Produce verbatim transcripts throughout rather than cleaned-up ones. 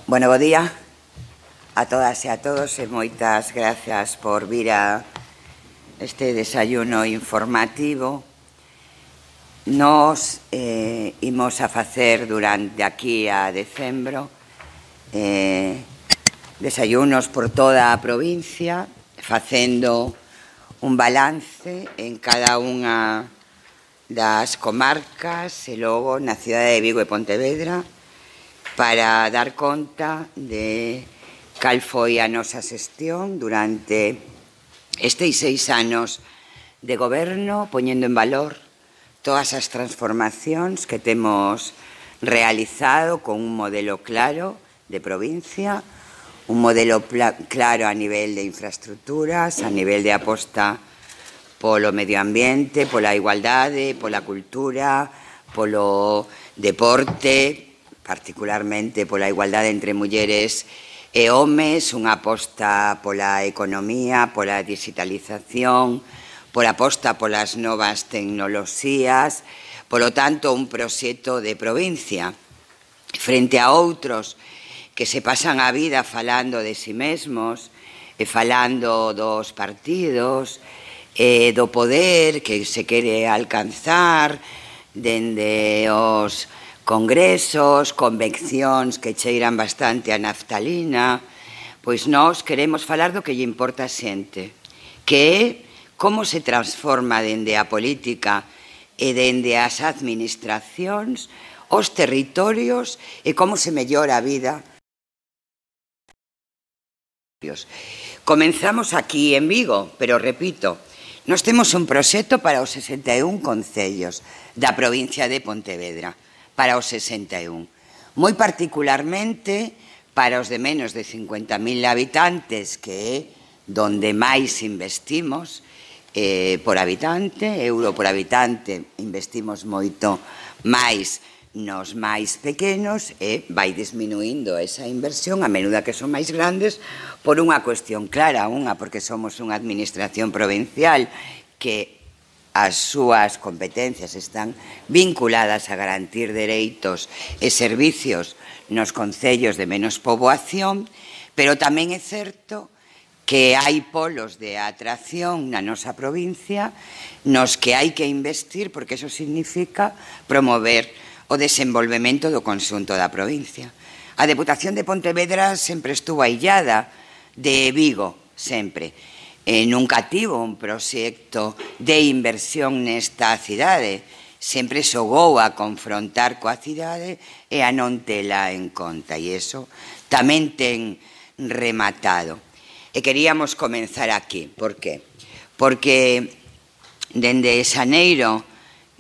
Bueno, bo día a todas e a todos e moitas grazas por vir a este desayuno informativo. Nos eh, imos a facer durante aquí a decembro eh, desayunos por toda a provincia, facendo un balance en cada unha das comarcas e logo na cidade de Vigo e Pontevedra para dar conta de cal foi a nosa xestión durante estes seis anos de goberno, poñendo en valor todas as transformacións que temos realizado con un modelo claro de provincia, un modelo claro a nivel de infraestructuras, a nivel de aposta polo medio ambiente, pola igualdade, pola cultura, polo deporte, particularmente pola igualdade entre mulleres e homes, unha aposta pola economía, pola digitalización, pola aposta polas novas tecnoloxías, polo tanto, un proxecto de provincia frente a outros que se pasan a vida falando de si mesmos e falando dos partidos e do poder que se quere alcanzar dende os congresos, convencións que cheiran bastante a naftalina. Pois nós queremos falar do que lle importa a xente, que é como se transforma dende a política e dende as administracións os territorios e como se mellora a vida. Comenzamos aquí en Vigo, pero repito, nós temos un proxecto para os sesenta e un concellos da provincia de Pontevedra, para os sesenta e un. Moi particularmente para os de menos de cincuenta mil habitantes, que é donde máis investimos eh, por habitante, euro por habitante, investimos moito máis nos máis pequenos e vai disminuindo esa inversión a menuda que son máis grandes por unha cuestión clara, unha porque somos unha administración provincial que as súas competencias están vinculadas a garantir dereitos e servicios nos concellos de menos poboación, pero tamén é certo que hai polos de atracción na nosa provincia nos que hai que investir porque eso significa promover o desenvolvemento do conxunto da provincia. A Deputación de Pontevedra sempre estuvo aillada de Vigo, sempre. E nunca tivo un proxecto de inversión nesta cidade. Sempre xogou a confrontar coa cidade e a non tela en conta. E iso tamén ten rematado. E queríamos comenzar aquí. Por qué? Porque dende xaneiro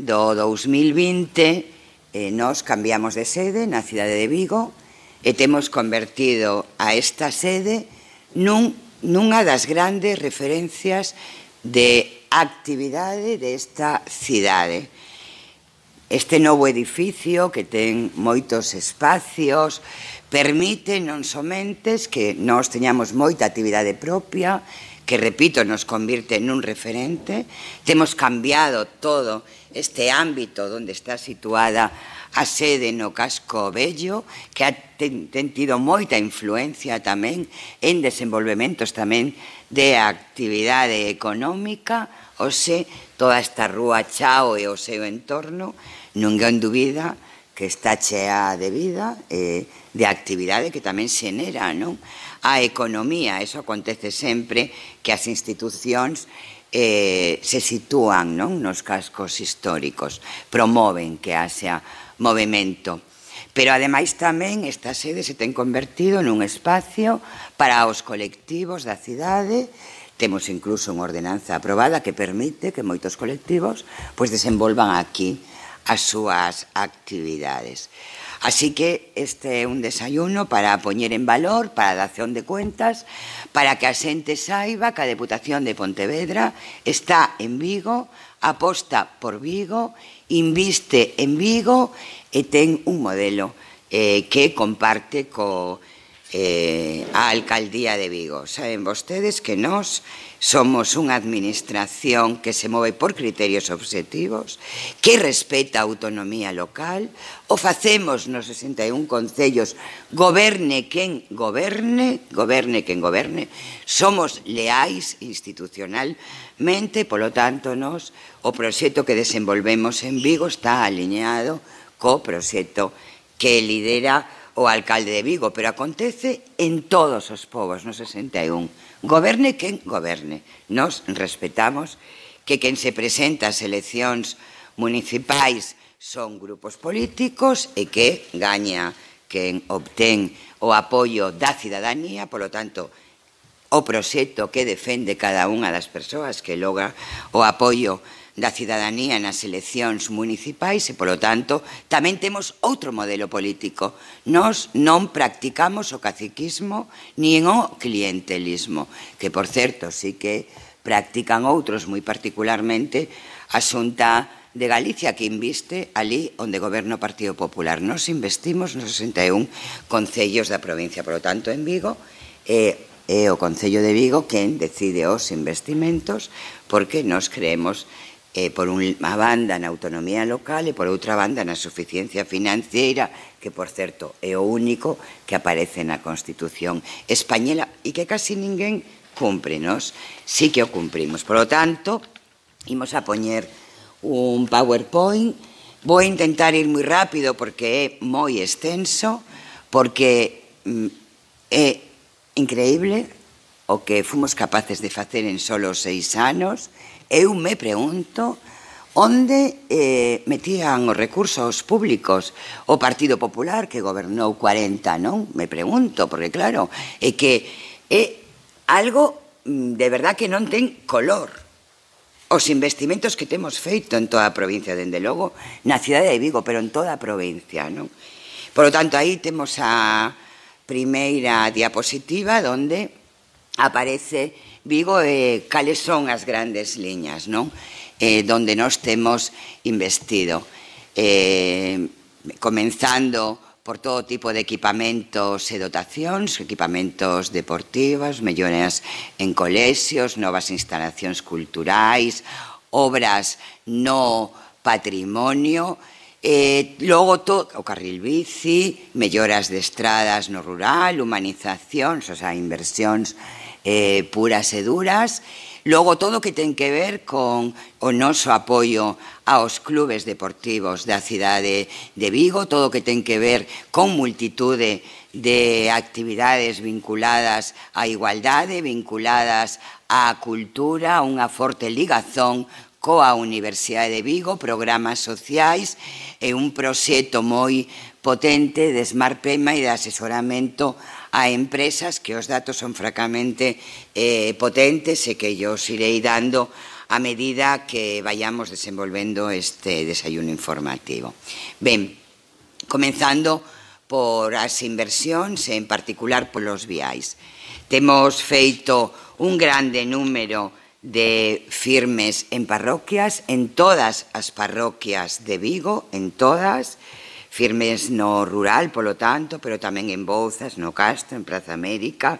do dous mil vinte eh, nos cambiamos de sede na cidade de Vigo e temos convertido a esta sede nun nunha das grandes referencias de actividade desta cidade. Este novo edificio, que ten moitos espacios, permite non somente que nós teñamos moita actividade propia, que, repito, nos convirte nun referente. Temos cambiado todo este ámbito onde está situada a sede no Casco Vello, que ten, ten tido moita influencia tamén en desenvolvementos tamén de actividade económica, ou se toda esta rúa Chao e o seu entorno, ninguén dubida que está chea de vida e de actividade que tamén xenera, non? A economía, eso acontece sempre que as institucións eh, se sitúan, non, nos cascos históricos, promoven que haxa movimento. Pero, ademais, tamén esta sede se ten convertido nun espacio para os colectivos da cidade. Temos incluso unha ordenanza aprobada que permite que moitos colectivos pois desenvolvan aquí as súas actividades. Así que este é un desayuno para poñer en valor, para a dación de cuentas, para que a xente saiba que a Deputación de Pontevedra está en Vigo, aposta por Vigo, inviste en Vigo e ten un modelo eh, que comparte co, eh, a Alcaldía de Vigo. Saben vostedes que nós somos unha administración que se move por criterios obxectivos, que respeta a autonomía local, o facemos nos sesenta e un concellos, goberne quen goberne, goberne quen goberne, somos leais institucionalmente, polo tanto, nos, o proxecto que desenvolvemos en Vigo está alineado co proxecto que lidera o alcalde de Vigo, pero acontece en todos os povos, no sesenta e un. Goberne quen goberne. Nos respetamos que quen se presenta ás eleccións municipais son grupos políticos e que gaña quen obtén o apoio da cidadanía, polo tanto, o proxecto que defende cada unha das persoas que logra o apoio da cidadanía nas eleccións municipais e, polo tanto, tamén temos outro modelo político. Nós non practicamos o caciquismo nin o clientelismo, que, por certo, sí que practican outros moi particularmente a Xunta de Galicia, que inviste ali onde goberna o Partido Popular. Nos investimos nos sesenta e un concellos da provincia, polo tanto, en Vigo, e é o Concello de Vigo quen decide os investimentos, porque nos creemos Eh, por unha banda na autonomía local e por outra banda na suficiencia financiera, que, por certo, é o único que aparece na Constitución española e que casi ninguén cumpre. Nos sí que o cumprimos. Por lo tanto, imos a poñer un PowerPoint. Vou intentar ir moi rápido porque é moi extenso, porque mm, é increíble o que fomos capaces de facer en solo seis anos. Eu me pregunto onde eh, metían os recursos públicos o Partido Popular, que gobernou cuarenta, non? Me pregunto, porque claro, é que é algo de verdad que non ten color. Os investimentos que temos feito en toda a provincia, dende logo, na cidade de Vigo, pero en toda a provincia, non? Por lo tanto, aí temos a primeira diapositiva onde aparece Vigo e cales son as grandes liñas, non? Eh, donde nós temos investido. Eh, comenzando por todo tipo de equipamentos e dotacións, equipamentos deportivos, melloras en colexios, novas instalacións culturais, obras no patrimonio, eh, logo todo, o carril bici, melloras de estradas no rural, humanizacións, o sea, inversións Eh, puras e duras, logo todo o que ten que ver con o noso apoio aos clubes deportivos da cidade de Vigo, todo o que ten que ver con multitude de actividades vinculadas á igualdade, vinculadas á cultura, unha forte ligazón coa Universidade de Vigo, programas sociais e un proxecto moi potente de Smart Pema e de asesoramento a empresas, que os datos son francamente eh, potentes e que yo os irei dando a medida que vayamos desenvolvendo este desayuno informativo. Ben, comenzando por as inversións, en particular polos viais. Temos feito un grande número de firmes en parroquias, en todas as parroquias de Vigo, en todas, firmes no rural, polo tanto, pero tamén en Bouzas, no Castro, en Praza América,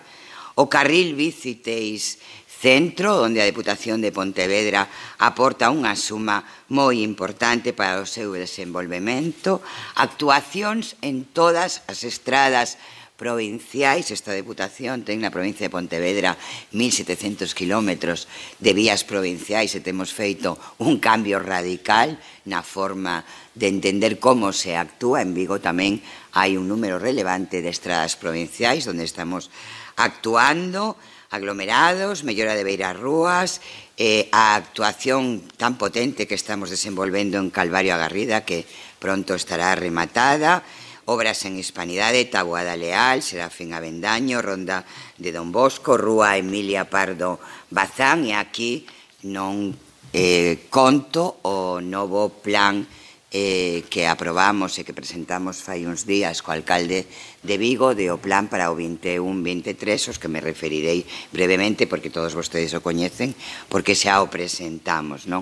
o carril bici Teis Centro, onde a Deputación de Pontevedra aporta unha suma moi importante para o seu desenvolvemento, actuacións en todas as estradas provinciais. Esta Deputación ten na provincia de Pontevedra mil setecentos kilómetros de vías provinciais e temos feito un cambio radical na forma de entender como se actúa. En Vigo tamén hai un número relevante de estradas provinciais onde estamos actuando, aglomerados, mellora de beirarrúas, eh, a actuación tan potente que estamos desenvolvendo en Calvario a Garrida, que pronto estará rematada, obras en Hispanidade, Taboada Leal, Serafín Avendaño, Ronda de Don Bosco, Rúa Emilia Pardo Bazán, e aquí non eh, conto o novo plan eh, que aprobamos e que presentamos fai uns días co alcalde de Vigo, de o plan para o vinte e un vinte e tres, os que me referirei brevemente, porque todos vostedes o coñecen, porque xa o presentamos, non?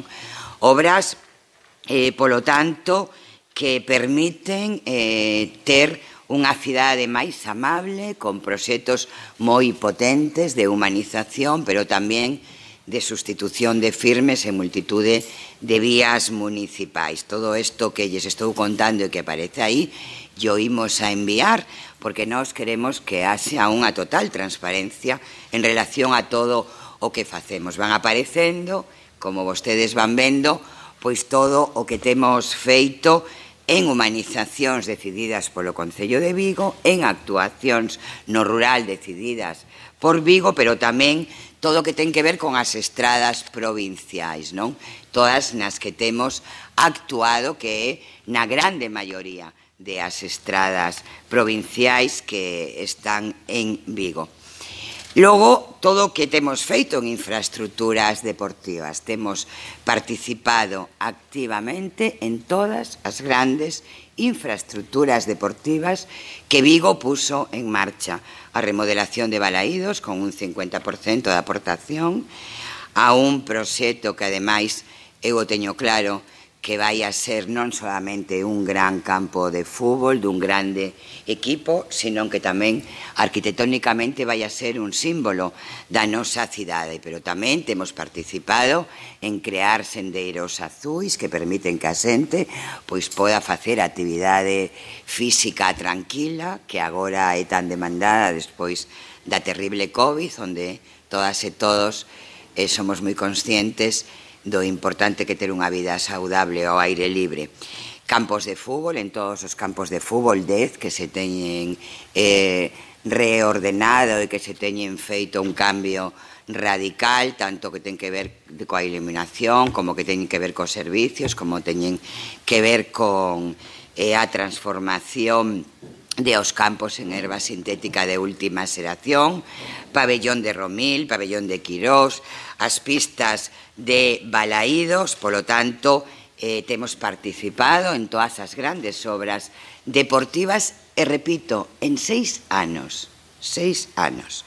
Obras, eh, polo tanto, que permiten eh, ter unha cidade máis amable, con proxectos moi potentes de humanización, pero tamén de sustitución de firmes en multitude de vías municipais. Todo isto que lles estou contando e que aparece aí, yo imos a enviar, porque nós queremos que haxa unha total transparencia en relación a todo o que facemos. Van aparecendo, como vostedes van vendo, pois todo o que temos feito en humanizacións decididas polo Concello de Vigo, en actuacións no rural decididas por Vigo, pero tamén todo o que ten que ver con as estradas provinciais, non? Todas nas que temos actuado, que é na grande maioría de as estradas provinciais que están en Vigo. Logo, todo o que temos feito en infraestructuras deportivas. Temos participado activamente en todas as grandes infraestructuras deportivas que Vigo puso en marcha. A remodelación de Balaídos, con un cincuenta por cento de aportación, a un proxecto que, ademais, eu o teño claro, que vai a ser non solamente un gran campo de fútbol, dun grande equipo, sino que tamén arquitectónicamente vai a ser un símbolo da nosa cidade. Pero tamén temos participado en crear sendeiros azuis que permiten que a xente pois poda facer actividade física tranquila, que agora é tan demandada despois da terrible COVID, onde todas e todos eh, somos moi conscientes do importante que ter unha vida saudable ao aire libre. Campos de fútbol, en todos os campos de fútbol, dez que se teñen eh, reordenado e que se teñen feito un cambio radical, tanto que ten que ver coa iluminación, como que teñen que ver cos servicios, como teñen que ver con eh, a transformación de os campos en herba sintética de última xeración, pabellón de Romil, pabellón de Quirós, as pistas de Balaídos. Polo tanto, eh, temos participado en todas as grandes obras deportivas e, repito, en seis anos, seis anos.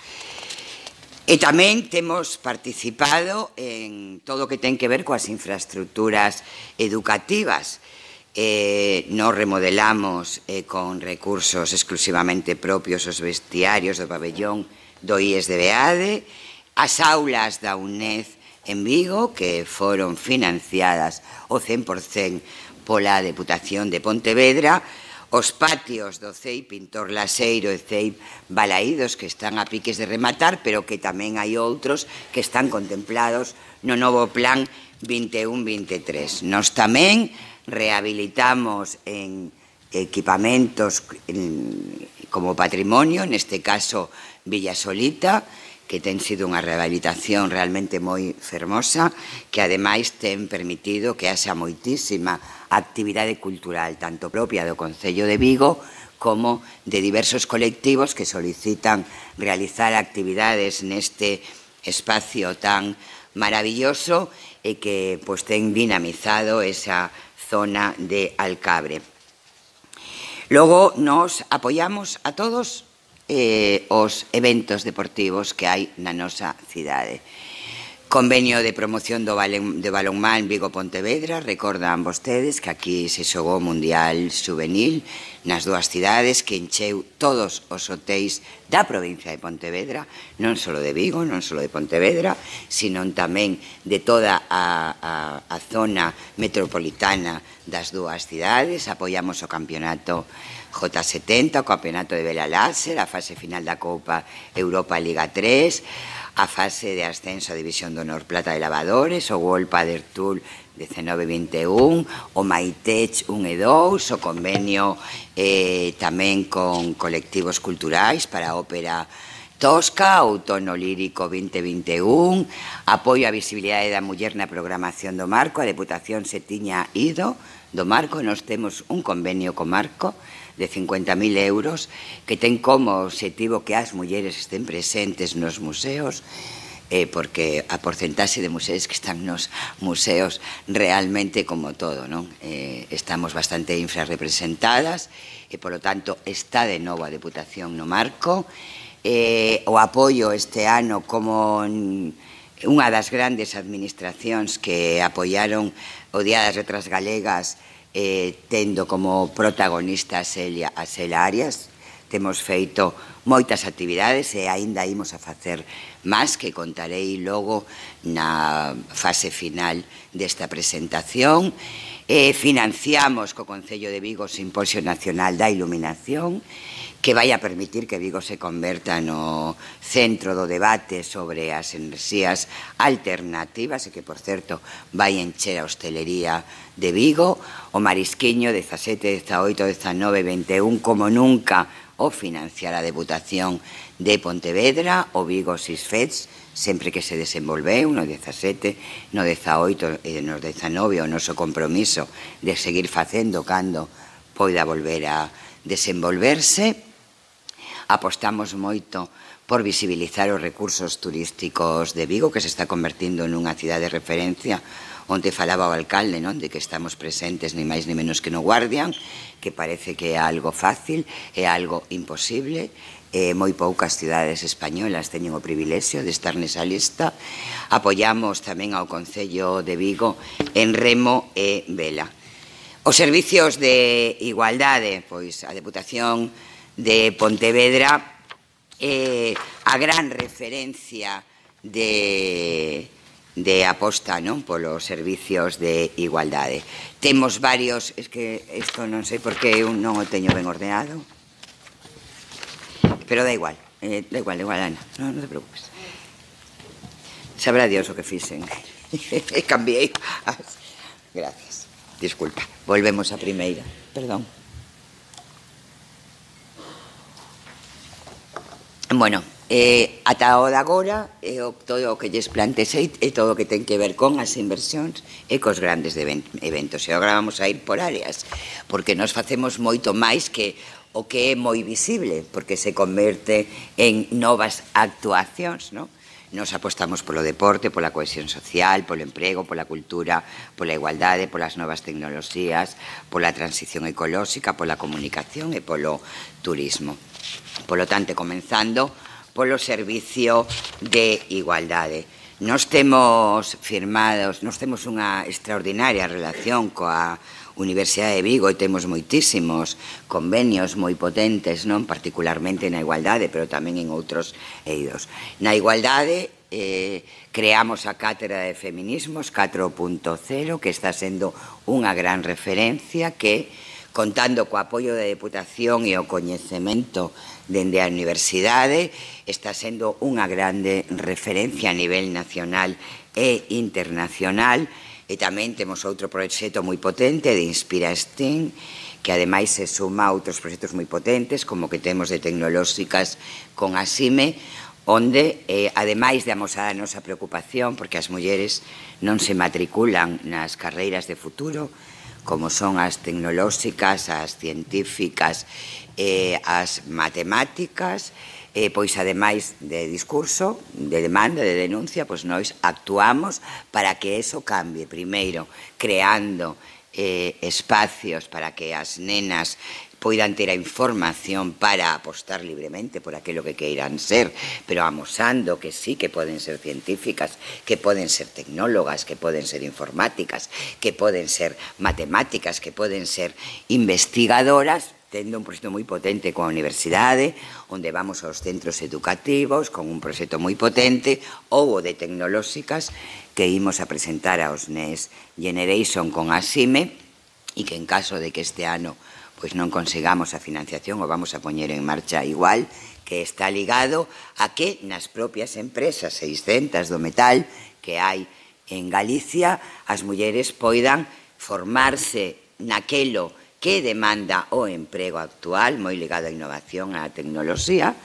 E tamén temos participado en todo o que ten que ver coas infraestructuras educativas. Eh, nos remodelamos eh, con recursos exclusivamente propios os vestiarios do pabellón do I E S de Beade, as aulas da UNED en Vigo, que foron financiadas ao cen por cen pola Deputación de Pontevedra, os patios do C E I Pintor Laseiro e C E I Balaídos, que están a piques de rematar, pero que tamén hai outros que están contemplados no novo plan vinte e un vinte e tres. Nos tamén rehabilitamos en equipamentos como patrimonio, neste caso Villa Solita, que ten sido unha rehabilitación realmente moi fermosa, que ademais ten permitido que haxa moitísima actividade cultural, tanto propia do Concello de Vigo como de diversos colectivos que solicitan realizar actividades neste espacio tan maravilloso e que pois ten dinamizado esa zona de Alcabre. Logo, nos apoiamos a todos eh, os eventos deportivos que hai na nosa cidade. Convenio de promoción do balonmán Vigo-Pontevedra. Recordan vostedes que aquí se xogou o Mundial Juvenil nas dúas cidades, que encheu todos os hotéis da provincia de Pontevedra, non só de Vigo, non só de Pontevedra, sino tamén de toda a, a, a zona metropolitana das dúas cidades. Apoiamos o campeonato J setenta, o campeonato de vela láser, a fase final da Copa Europa Liga tres, a fase de ascenso a División de Honor Plata de Lavadores, o World Padel Tour diecinueve vinte e un, o Maitech un e dous, o convenio eh, tamén con colectivos culturais para a ópera Tosca, outono lírico vinte vinte e un, apoio á visibilidade da muller na programación do Marco. A Deputación se tiña ido do Marco, nos temos un convenio co Marco de cincuenta mil euros que ten como obxectivo que as mulleres estén presentes nos museos, eh, porque a porcentaxe de museres que están nos museos realmente, como todo, non? Eh, estamos bastante infrarrepresentadas e, polo tanto, está de novo a Deputación no Marco. Eh, o apoio este ano como unha das grandes administracións que apoiaron o Día das Letras Galegas eh, tendo como protagonista a Celia, a Celia Arias. Temos feito moitas actividades e aínda imos a facer máis que contarei logo na fase final desta presentación. Eh, financiamos co Concello de Vigo o Simposio Nacional da Iluminación, que vai a permitir que Vigo se converta no centro do debate sobre as enerxías alternativas e que, por certo, vai encher a hostelería de Vigo. O Marisquiño, dezasete, dezaoito, dezanove, vinte e un, como nunca o financiar a Deputación de Pontevedra, o Vigo Sisfets, sempre que se desenvolveu no dezasete, no dezaoito e no dezanove, o noso compromiso de seguir facendo cando poida volver a desenvolverse. Apostamos moito por visibilizar os recursos turísticos de Vigo, que se está convertindo nunha cidade de referencia, onde falaba o alcalde, non? De que estamos presentes ni máis ni menos que no Guardian, que parece que é algo fácil, é algo imposible. Eh, moi poucas cidades españolas teñen o privilexio de estar nesa lista. Apoiamos tamén ao Concello de Vigo en remo e vela. Os servicios de igualdade, pois a Deputación de Pontevedra é a gran referencia de... de aposta, non, polos servicios de igualdade. Temos varios, es que isto non sei por que eu non o teño ben ordenado, pero da igual, eh, da igual, da igual, Ana, non, non te preocupes. Sabrá Dios o que fixen. Cambiei. Gracias. Disculpa. Volvemos a primeira. Perdón. Bueno, eh, ata o de agora, eh, o, todo o que lles plantexei é todo o que ten que ver con as inversións e cos grandes eventos. E agora vamos a ir por áreas, porque nos facemos moito máis que o que é moi visible, porque se converte en novas actuacións, non? Nos apostamos polo deporte, pola cohesión social, polo emprego, pola cultura, pola igualdade, polas novas tecnoloxías, pola transición ecolóxica, pola comunicación e polo turismo. Polo tanto, comenzando polo servicio de igualdade. Nos temos firmados, nos temos unha extraordinaria relación coa Universidade de Vigo e temos moitísimos convenios moi potentes, non particularmente na igualdade, pero tamén en outros eidos. Na igualdade eh, creamos a Cátedra de Feminismos catro punto cero, que está sendo unha gran referencia, que, contando co apoio da Deputación e o coñecemento dende a Universidade, está sendo unha grande referencia a nivel nacional e internacional. E tamén temos outro proxecto moi potente de Inspira STEM, que ademais se suma a outros proxectos moi potentes, como que temos de tecnolóxicas con a SIME, onde, eh, ademais de amosar a nosa preocupación, porque as mulleres non se matriculan nas carreiras de futuro, como son as tecnolóxicas, as científicas, eh, as matemáticas, eh, pois ademais de discurso, de demanda, de denuncia, pois nós actuamos para que eso cambie. Primeiro, creando eh, espacios para que as nenas poidan ter a información para apostar libremente por aquilo que queiran ser, pero amosando que sí, que poden ser científicas, que poden ser tecnólogas, que poden ser informáticas, que poden ser matemáticas, que poden ser investigadoras, tendo un proxecto moi potente coa universidade, onde vamos aos centros educativos, con un proxecto moi potente, ou o de tecnolóxicas, que imos a presentar aos Next Generation con a SIME, e que en caso de que este ano pois non consigamos a financiación, o vamos a poñer en marcha igual, que está ligado a que nas propias empresas seiscentas do metal que hai en Galicia, as mulleres poidan formarse naquelo que demanda o emprego actual, moi ligado á innovación, á tecnoloxía,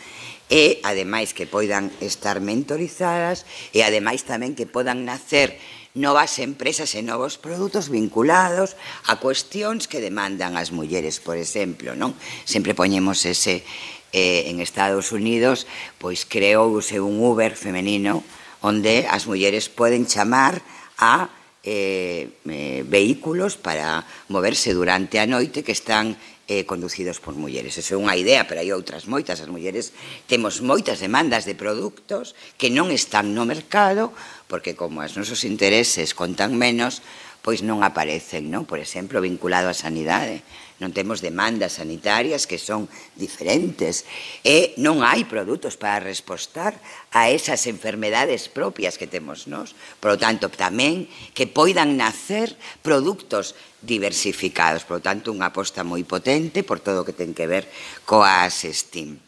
e, ademais, que poidan estar mentorizadas e, ademais, tamén que podan nacer novas empresas e novos produtos vinculados a cuestións que demandan as mulleres, por exemplo, non? Sempre poñemos ese, eh, en Estados Unidos, pois creouse un Uber femenino onde as mulleres poden chamar a Eh, eh, vehículos para moverse durante a noite que están eh, conducidos por mulleres. Eso é unha idea, pero hai outras moitas. As mulleres temos moitas demandas de produtos que non están no mercado, porque como os nosos intereses contan menos, pois non aparecen, non? Por exemplo, vinculado á sanidade. Non temos demandas sanitarias que son diferentes e non hai produtos para respostar a esas enfermedades propias que temos nós. Por lo tanto, tamén que poidan nacer produtos diversificados. Por lo tanto, unha aposta moi potente por todo o que ten que ver coas STEAM.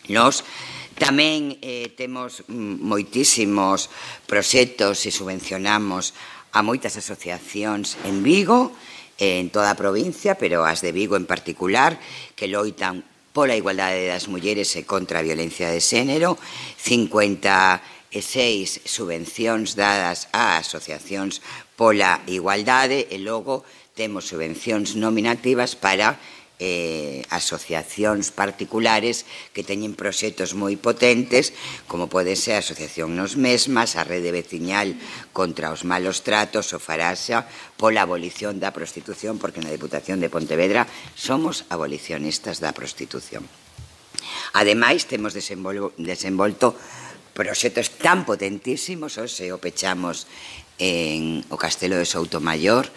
Nos tamén eh, temos moitísimos proxectos e subvencionamos a moitas asociacións en Vigo, en toda a provincia, pero as de Vigo en particular, que loitan pola igualdade das mulleres e contra a violencia de xénero, cincuenta e seis subvencións dadas a asociacións pola igualdade e logo temos subvencións nominativas para Eh, asociacións particulares que teñen proxectos moi potentes, como pode ser a Asociación Nos Mesmas, a Rede Veciñal contra os Malos Tratos, o Faraxa, pola abolición da prostitución, porque na Deputación de Pontevedra somos abolicionistas da prostitución. Ademais, temos desenvolto proxectos tan potentísimos, hoxe o pechamos en o Castelo de Soutomaior,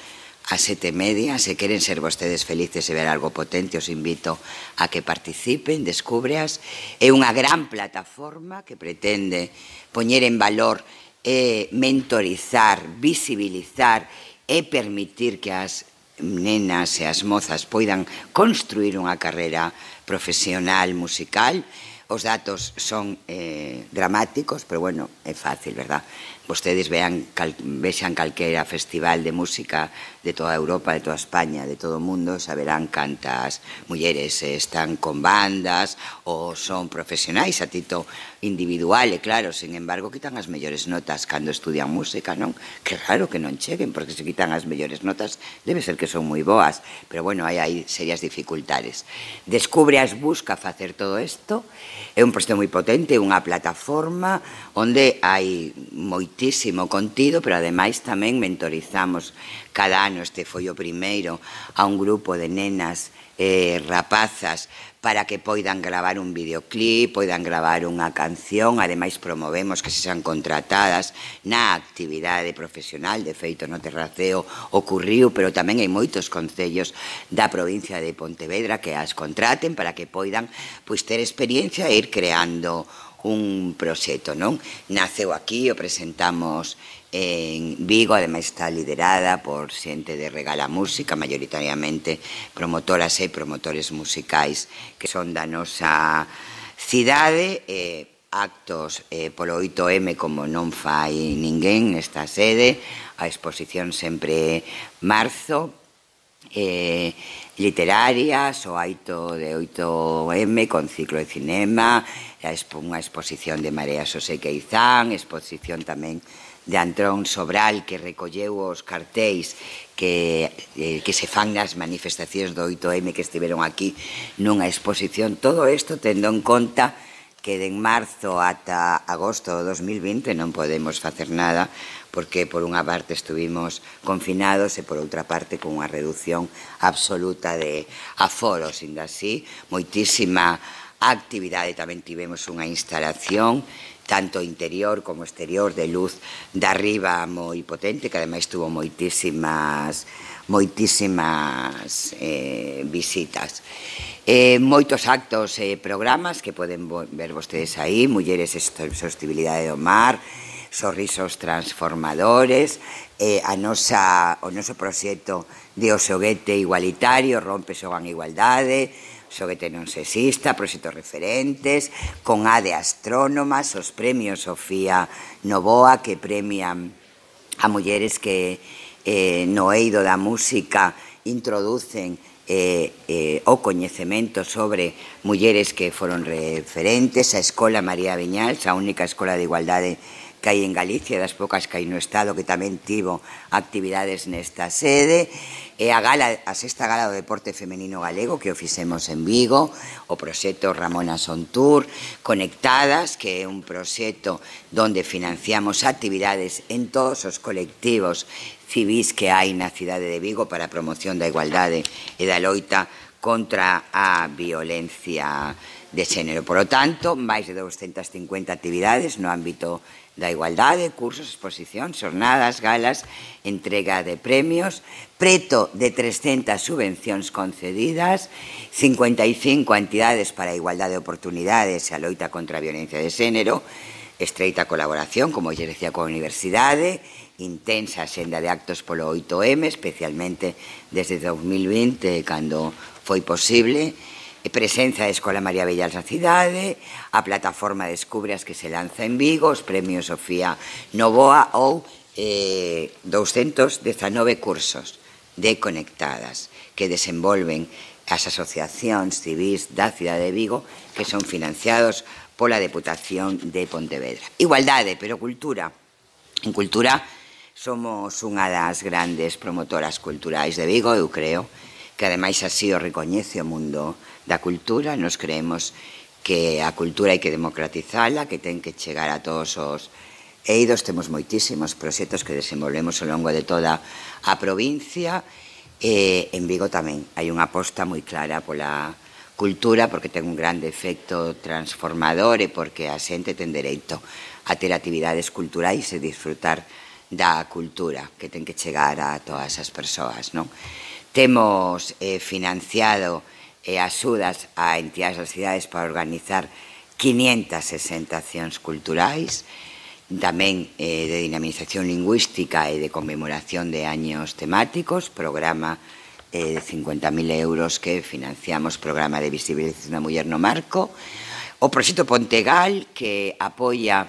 a sete e media. Se queren ser vostedes felices e ver algo potente, os invito a que participen, descúbreas. É unha gran plataforma que pretende poñer en valor e mentorizar, visibilizar e permitir que as nenas e as mozas poidan construir unha carreira profesional musical. Os datos son eh, dramáticos, pero bueno, é fácil, verdad? Vostedes vean, cal, vexan calquera festival de música de toda Europa, de toda España, de todo o mundo, saberán cantas mulleres están con bandas ou son profesionais a tito individual, e claro, sin embargo, quitan as mellores notas cando estudian música, non? Que raro que non cheguen, porque se quitan as mellores notas, debe ser que son moi boas, pero bueno, hai aí serias dificultades. Descubre as busca facer todo isto, é un proxecto moi potente, unha plataforma onde hai moitísimo contido, pero ademais tamén mentorizamos cada ano, este foi o primeiro, a un grupo de nenas e rapazas para que poidan gravar un videoclip, poidan gravar unha canción, ademais promovemos que se sean contratadas na actividade profesional. De feito, no Terraceo ocurriu, pero tamén hai moitos concellos da provincia de Pontevedra que as contraten para que poidan pois ter experiencia e ir creando un proxecto, non? Naceu aquí, o presentamos en Vigo, ademais está liderada por xente de Regala Música, maioritariamente promotoras e promotores musicais que son da nosa cidade, e actos eh, polo oito eme como non fai ninguén nesta sede, a exposición sempre marzo, eh, literarias, o aito de oito eme con ciclo de cinema, unha exposición de Marea Xosé Queizán, exposición tamén de Antrón Sobral, que recolleu os cartéis que, eh, que se fan nas manifestacións do oito eme que estiveron aquí nunha exposición. Todo isto tendo en conta que de marzo ata agosto do dos mil vinte non podemos facer nada, porque por unha parte estuvimos confinados e por outra parte con unha reducción absoluta de aforos. Inda así, moitísima actividade. Tamén tivemos unha instalación tanto interior como exterior de luz de arriba moi potente, que ademais tuvo moitísimas moitísimas eh, visitas. Eh, moitos actos e eh, programas que poden ver vostedes aí: Mulleres e Sostibilidade do Mar, Sorrisos Transformadores, eh, a nosa, o noso proxecto de o xoguete igualitario, Rompe, Xogan Igualdade, xoguete non sexista, proxectos referentes, con A de Astrónomas, os premios Sofía Novoa, que premian a mulleres que eh, no eido da música introducen eh, eh, o coñecemento sobre mulleres que foron referentes, a Escola María Viñals, a única escola de igualdade que hai en Galicia, das poucas que hai no Estado, que tamén tivo actividades nesta sede, e a, gala, a sexta gala do deporte femenino galego que o fixemos en Vigo, o proxecto Ramona Sontur, Conectadas, que é un proxecto donde financiamos actividades en todos os colectivos civís que hai na cidade de Vigo para a promoción da igualdade e da loita contra a violencia de xénero. Por lo tanto, máis de doscientas cincuenta actividades no ámbito da igualdade, cursos, exposicións, xornadas, galas, entrega de premios, preto de trescentas subvencións concedidas, cincuenta e cinco entidades para a igualdade de oportunidades e a loita contra a violencia de xénero, estreita colaboración, como lle decía, coa Universidade, intensa xenda de actos polo oito eme, especialmente desde dos mil vinte, cando foi posible, presenza da Escola María Vellals na cidade, a plataforma Descubras que se lanza en Vigo, os premios Sofía Novoa ou eh, doscientos dezanove cursos de conectadas que desenvolven as asociacións civís da cidade de Vigo que son financiados pola Deputación de Pontevedra. Igualdade, pero cultura. En cultura somos unha das grandes promotoras culturais de Vigo, eu creo, que ademais así o recoñece o mundo da cultura. Nos creemos que a cultura hai que democratizala, que ten que chegar a todos os eidos. Temos moitísimos proxectos que desenvolvemos ao longo de toda a provincia. E en Vigo tamén hai unha aposta moi clara pola cultura, porque ten un grande efecto transformador e porque a xente ten dereito a ter actividades culturais e disfrutar da cultura, que ten que chegar a todas as persoas, non? Temos eh, financiado eh, axudas a entidades das cidades para organizar quinientas sesenta accións culturais, tamén eh, de dinamización lingüística e de conmemoración de años temáticos, programa eh, de cincuenta mil euros que financiamos, programa de visibilización da muller no marco, o proxecto Pontegal, que apoia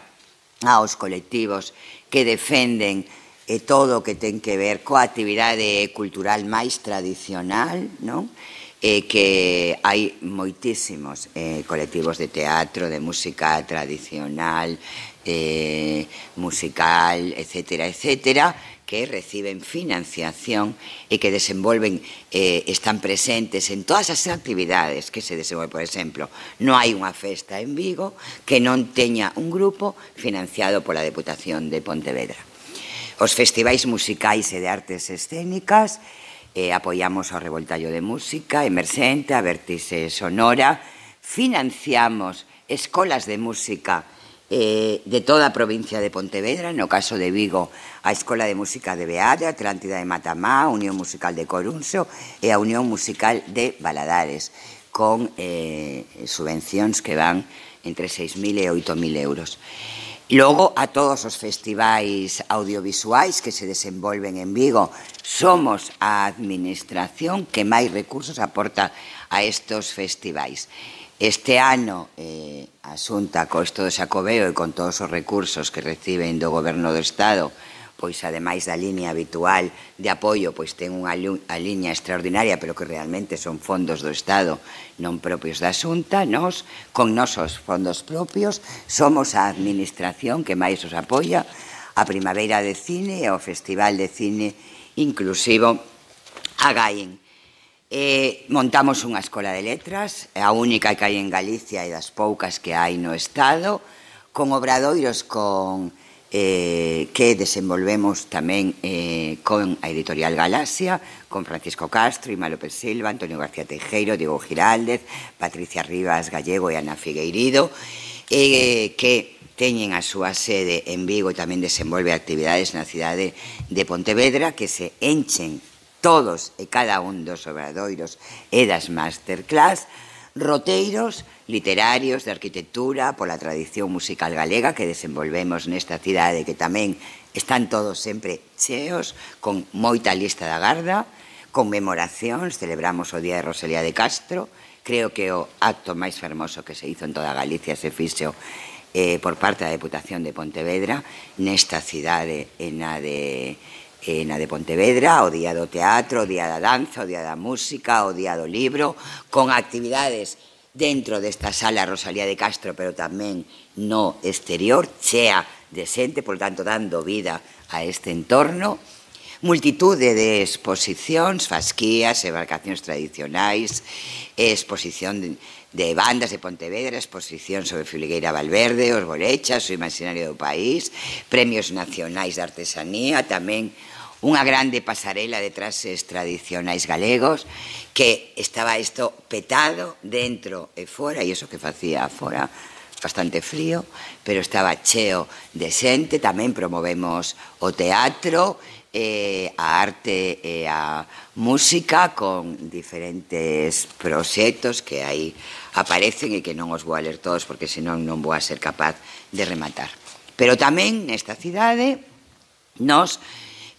aos colectivos que defenden e todo o que ten que ver coa actividade cultural máis tradicional, non? E que hai moitísimos eh, colectivos de teatro, de música tradicional, eh, musical, etcétera, etcétera, que reciben financiación e que desenvolven, eh, están presentes en todas as actividades que se desenvolven. Por exemplo, non hai unha festa en Vigo que non teña un grupo financiado pola Deputación de Pontevedra. Os festivais musicais e de artes escénicas, eh, apoiamos ao Revoltallo de Música, Emerxente, a Vértice Sonora, financiamos escolas de música eh, de toda a provincia de Pontevedra, no caso de Vigo, a Escola de Música de Beade, a Atlántida de Matamá, a Unión Musical de Corunxo e a Unión Musical de Valadares, con eh, subvencións que van entre seis mil e oito mil euros. Logo, a todos os festivais audiovisuais que se desenvolven en Vigo, somos a administración que máis recursos aporta a estos festivais. Este ano, eh, a Xunta, co isto do Xacobeo e con todos os recursos que reciben do Goberno do Estado, pois ademais da línea habitual de apoio, pois ten unha liña extraordinaria, pero que realmente son fondos do Estado, non propios da Xunta. Nos, con nosos fondos propios, somos a administración que máis os apoia a Primavera de Cine e ao Festival de Cine Inclusivo a Gaien. Eh, montamos unha escola de letras, a única que hai en Galicia e das poucas que hai no Estado, con obradoiros con... Eh, que desenvolvemos tamén eh, con a editorial Galaxia, con Francisco Castro, Ima López Silva, Antonio García Teijeiro, Diego Giraldez, Patricia Rivas Gallego e Ana Figueirido, eh, que teñen a súa sede en Vigo e tamén desenvolve actividades na cidade de Pontevedra, que se enchen todos e cada un dos obradoiros e das masterclass, roteiros literarios de arquitectura pola tradición musical galega que desenvolvemos nesta cidade, que tamén están todos sempre cheos, con moita lista da garda, conmemoracións. Celebramos o Día de Rosalía de Castro. Creo que o acto máis fermoso que se hizo en toda Galicia se fixo eh, por parte da Deputación de Pontevedra nesta cidade e na de eh, na de Pontevedra, o Día do Teatro, o Día da Danza, o Día da Música, o Día do Libro, con actividades dentro desta sala Rosalía de Castro, pero tamén no exterior, chea de xente, por tanto, dando vida a este entorno. Multitude de exposicións, fasquías, embarcacións tradicionais, exposición de, de bandas de Pontevedra, exposición sobre Filgueira Valverde, os Bolechas, o Imaginario do País, premios nacionais de artesanía, tamén unha grande pasarela de traxes tradicionais galegos, que estaba isto petado dentro e fora, e iso que facía fora bastante frío, pero estaba cheo de xente. Tamén promovemos o teatro, eh, a arte e a música con diferentes proxectos que aí aparecen e que non os vou a ler todos porque senón non vou a ser capaz de rematar. Pero tamén nesta cidade nos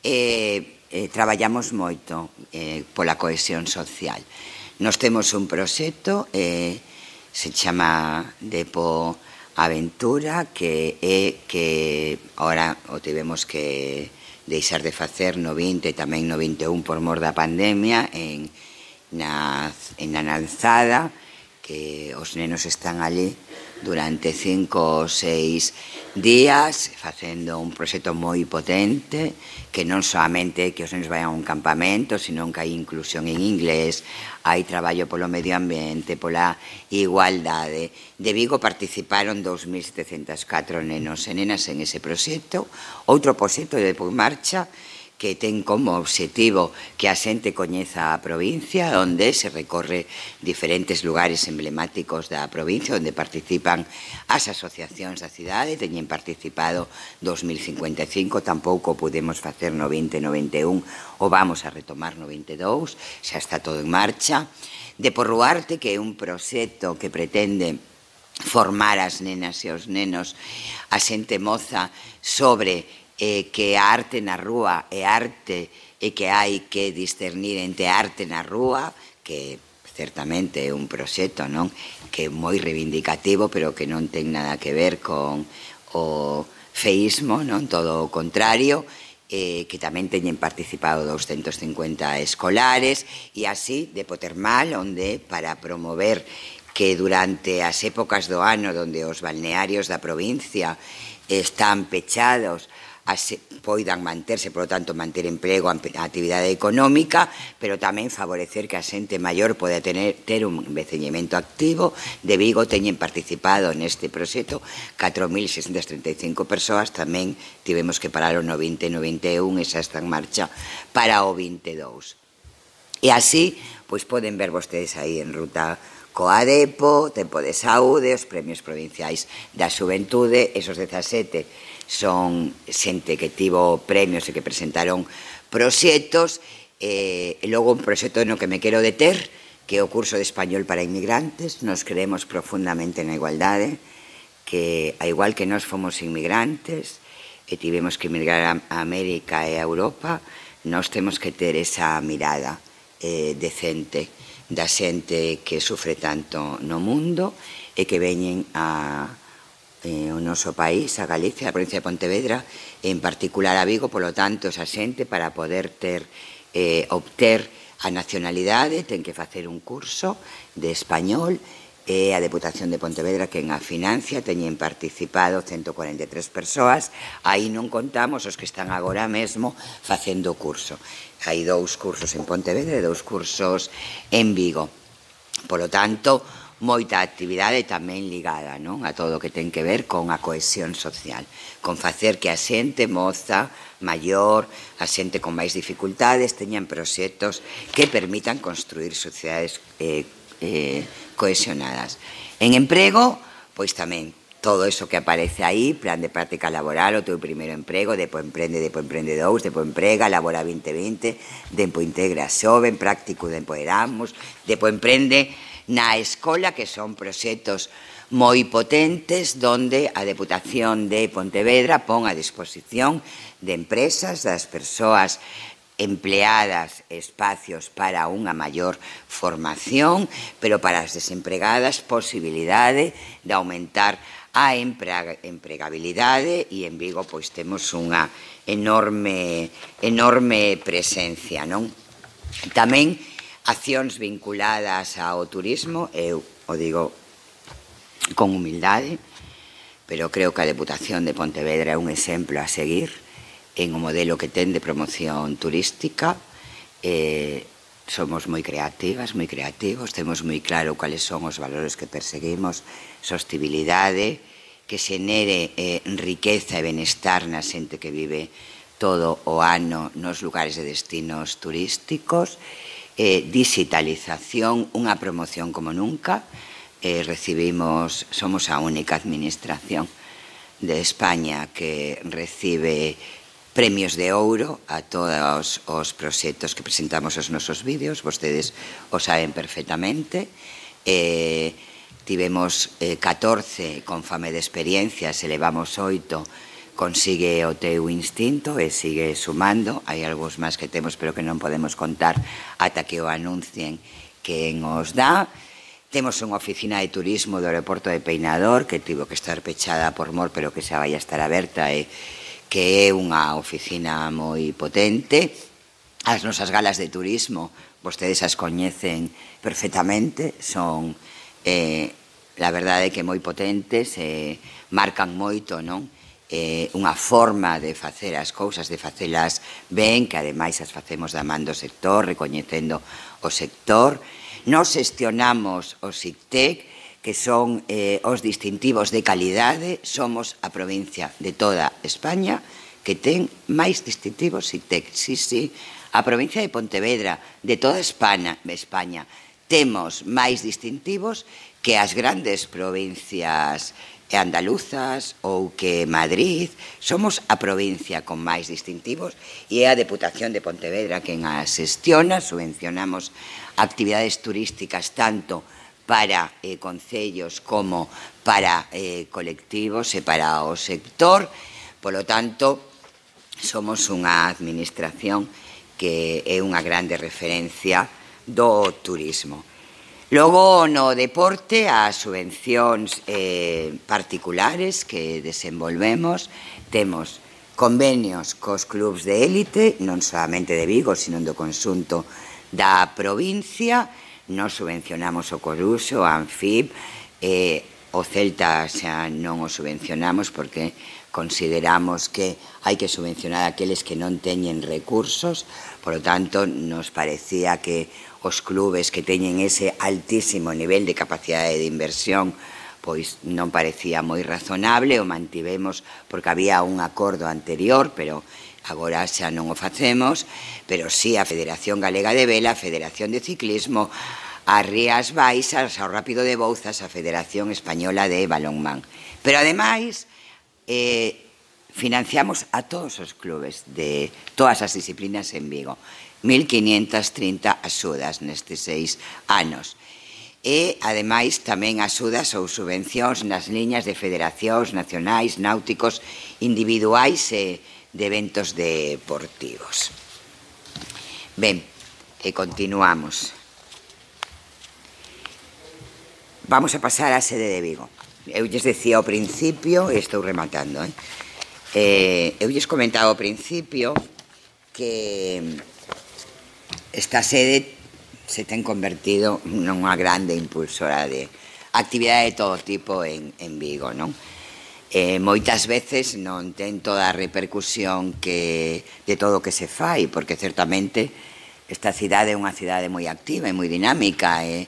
eh, eh, traballamos moito eh, pola cohesión social. Nos temos un proxecto eh, se chama Depo Aventura, que é que ahora o tivemos que deixar de facer no vinte e tamén no vinte e un por mor da pandemia en na, en na Lanzada, que os nenos están ali durante cinco ou seis días facendo un proxecto moi potente, que non solamente que os nenos vayan a un campamento, sino que hai inclusión en inglés, hai traballo polo medio ambiente, pola igualdade. De Vigo participaron dous mil setecentos e catro nenos e nenas en ese proxecto. Outro proxecto de Depo en Marcha, que ten como obxectivo que a xente coñeza a provincia, onde se recorre diferentes lugares emblemáticos da provincia, onde participan as asociacións da cidade. Teñen participado dos mil cincuenta e cinco, tampouco pudemos facer no vinte e no vinte e un, o vamos a retomar no vinte e dous, xa está todo en marcha. Depo Ruarte, que é un proxecto que pretende formar as nenas e os nenos, a xente moza, sobre eh, que a arte na rúa é arte e que hai que discernir entre arte na rúa, que certamente é un proxecto, non, que é moi reivindicativo, pero que non ten nada que ver con o feísmo, non, todo o contrario, eh, que tamén teñen participado doscientos cincuenta escolares, e así Depo Termal, onde para promover que durante as épocas do ano onde os balnearios da provincia están pechados, as, poidan manterse, por lo tanto, manter emprego, a actividade económica, pero tamén favorecer que a xente maior poda tener, ter un envellecemento activo. De Vigo teñen participado neste proxecto catro mil seiscentas trinta e cinco persoas, tamén tivemos que paralo no vinte e no vinte e un, e xa está en marcha para o vinte e dous. E así, pois poden ver vostedes aí en ruta coa Depo, Tempo de Saúde, os premios provinciais da xuventude. Esos dezasete son xente que tivo premios e que presentaron proxectos, e logo un proxecto no que me quero deter, que é o curso de español para inmigrantes. Nos creemos profundamente na igualdade, que a igual que nós fomos inmigrantes e tivemos que emigrar a América e a Europa, nós temos que ter esa mirada eh, decente da xente que sufre tanto no mundo e que veñen a eh, o noso país, a Galicia, a provincia de Pontevedra, en particular a Vigo. Polo tanto, esa xente, para poder ter eh, obter a nacionalidade, ten que facer un curso de español, e a Deputación de Pontevedra quen a financia. Teñen participado ciento cuarenta e tres persoas. Aí non contamos os que están agora mesmo facendo o curso. Hai dous cursos en Pontevedra e dous cursos en Vigo. Polo tanto, moita actividade tamén ligada, non, a todo o que ten que ver con a cohesión social, con facer que a xente moza, maior, a xente con máis dificultades teñan proxectos que permitan construir sociedades eh, eh, cohesionadas. En emprego, pois tamén todo eso que aparece aí, plan de práctica laboral, o teu primeiro emprego, Depo Emprende, Depo Emprende dous, Depo Emprega, Labora vinte vinte, Depo Integra Xoven, Práctico Depo Erasmus, Depo Emprende na escola, que son proxectos moi potentes, donde a Deputación de Pontevedra pon a disposición de empresas, das persoas empleadas, espacios para unha maior formación, pero para as desempregadas posibilidade de aumentar a empregabilidade, e en Vigo pois temos unha enorme enorme presencia, non? Tamén accións vinculadas ao turismo, eu o digo con humildade, pero creo que a Deputación de Pontevedra é un exemplo a seguir en o modelo que ten de promoción turística. Eh, somos moi creativas, moi creativos, temos moi claro cuáles son os valores que perseguimos: sostibilidade, que xenere eh, riqueza e benestar na xente que vive todo o ano nos lugares de destinos turísticos, eh, digitalización, unha promoción como nunca eh, recibimos, somos a única administración de España que recibe premios de ouro a todos os proxectos que presentamos os nosos vídeos, vostedes o saben perfectamente. Eh, tivemos eh, catorce con fame de experiencias, elevamos oito, consigue o teu instinto e sigue sumando. Hai algúns máis que temos pero que non podemos contar ata que o anuncien quen os dá. Temos unha oficina de turismo do aeroporto de Peinador que tivo que estar pechada por mor pero que xa vai a estar aberta e que é unha oficina moi potente. As nosas galas de turismo, vostedes as coñecen perfectamente, son, eh, la verdade que moi potentes, eh, marcan moito, non? Eh, unha forma de facer as cousas, de facelas ben, que ademais as facemos da man do sector, recoñecendo o sector. Nos xestionamos o SICTEC, que son eh, os distintivos de calidade. Somos a provincia de toda España que ten máis distintivos SICTEC. Sí, sí, a provincia de Pontevedra, de toda España, España temos máis distintivos que as grandes provincias andaluzas ou que Madrid. Somos a provincia con máis distintivos e é a Deputación de Pontevedra quen as xestiona. Subvencionamos actividades turísticas tanto para eh, concellos como para eh, colectivos e para o sector. Polo tanto, somos unha administración que é unha grande referencia do turismo. Logo, no deporte, as subvencións eh, particulares que desenvolvemos, temos convenios cos clubs de élite, non solamente de Vigo, sino do conxunto da provincia. Nos subvencionamos o Coruxo, o Anfib, eh, o Celta xa non o subvencionamos porque consideramos que hai que subvencionar aqueles que non teñen recursos. Por lo tanto, nos parecía que os clubes que teñen ese altísimo nivel de capacidade de inversión pois non parecía moi razonable, o mantivemos porque había un acordo anterior, pero agora xa non o facemos. Pero sí a Federación Galega de Vela, a Federación de Ciclismo, as Rías Baixas, ao Rápido de Bouzas, a Federación Española de Balonmán. Pero ademais eh, financiamos a todos os clubes de todas as disciplinas en Vigo. mil quinientas trinta axudas nestes seis anos. E, ademais, tamén axudas ou subvencións nas liñas de federacións nacionais, náuticos, individuais e de eventos deportivos. Ben, e continuamos. Vamos a pasar á sede de Vigo. Eu lles decía ao principio, e estou rematando, eh? Eh, eu lles comentaba ao principio que esta sede se ten convertido nunha grande impulsora de actividade de todo tipo en, en Vigo, non? Eh, moitas veces non ten toda a repercusión que, de todo o que se fai, porque certamente esta cidade é unha cidade moi activa e moi dinámica, e,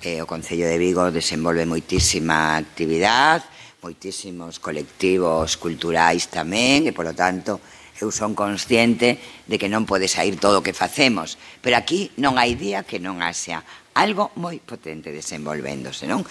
e o Concello de Vigo desenvolve moitísima actividade, moitísimos colectivos culturais tamén, e, polo tanto, eu son consciente de que non pode sair todo o que facemos, pero aquí non hai día que non haxa algo moi potente desenvolvéndose, non?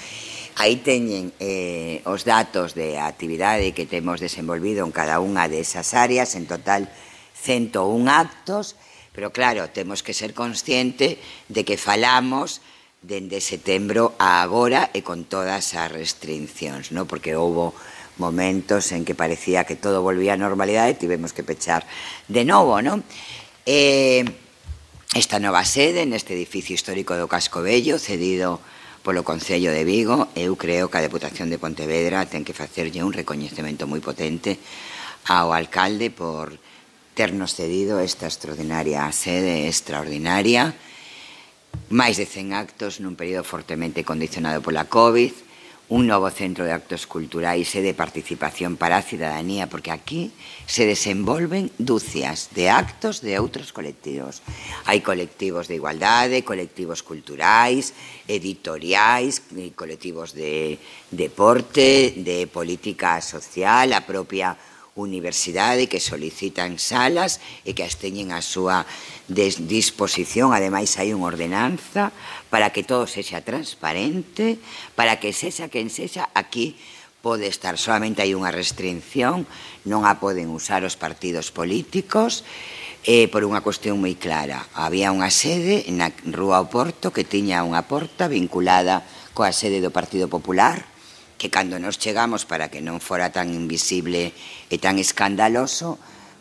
Aí teñen eh, os datos de actividade que temos desenvolvido en cada unha desas áreas, en total cento un actos, pero claro, temos que ser consciente de que falamos dende setembro a agora e con todas as restriccións, non? Porque houve momentos en que parecía que todo volvía a normalidade e tivemos que pechar de novo, non? Eh, esta nova sede, neste edificio histórico do Casco Vello, cedido polo Concello de Vigo, eu creo que a Deputación de Pontevedra ten que facerlle un recoñecemento moi potente ao alcalde por ternos cedido esta extraordinaria sede extraordinaria, máis de cen actos nun período fortemente condicionado pola COVID, un novo centro de actos culturais e de participación para a cidadanía, porque aquí se desenvolven dúcias de actos de outros colectivos. Hai colectivos de igualdade, colectivos culturais, editoriais, colectivos de deporte, de política social, a propia universidade que solicitan salas e que as teñen a súa disposición. Ademais, hai unha ordenanza para que todo sexa transparente, para que sexa quen sexa aquí pode estar. Solamente hai unha restricción, non a poden usar os partidos políticos, eh, por unha cuestión moi clara. Había unha sede na Rúa Oporto que tiña unha porta vinculada coa sede do Partido Popular, que cando nos chegamos, para que non fora tan invisible e tan escandaloso,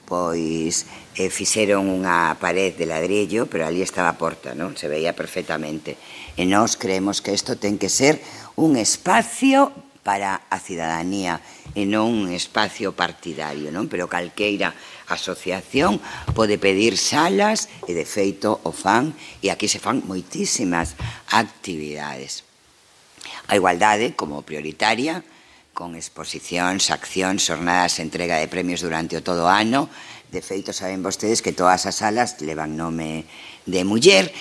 pois eh, fixeron unha pared de ladrillo, pero ali estaba a porta, non? Se veía perfectamente. E nós creemos que isto ten que ser un espacio para a cidadanía e non un espacio partidario, non? Pero calqueira asociación pode pedir salas e, de feito, o fan, e aquí se fan moitísimas actividades. A igualdade como prioritaria, con exposicións, accións, xornadas, entrega de premios durante o todo o ano. De feito, saben vostedes que todas as salas levan nome de muller.